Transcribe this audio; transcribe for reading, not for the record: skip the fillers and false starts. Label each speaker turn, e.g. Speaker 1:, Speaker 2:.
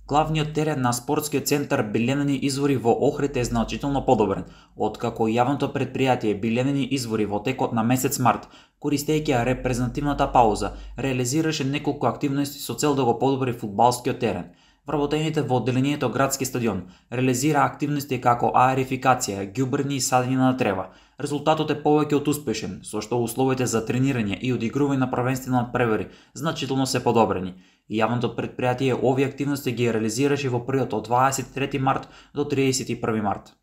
Speaker 1: Главниот терен на спортскиот центар Биленени извори во Охрид е значително подобрен, откако јавното претпријатие Биленени извори во текот на месец март, користејќи ја репрезентативната пауза, реализираше неколку активности со цел да го подобри фудбалскиот терен. Вработените во одделението градски стадион реализира активности како аерификација, ѓубрење и садење на трева. Резултатот е повеќе од успешен, со што условите за тренирање и одигрување на првенствени надпревари значително се подобрени. Јавното претпријатие овие активности ги реализираше во период од 23 март до 31 март.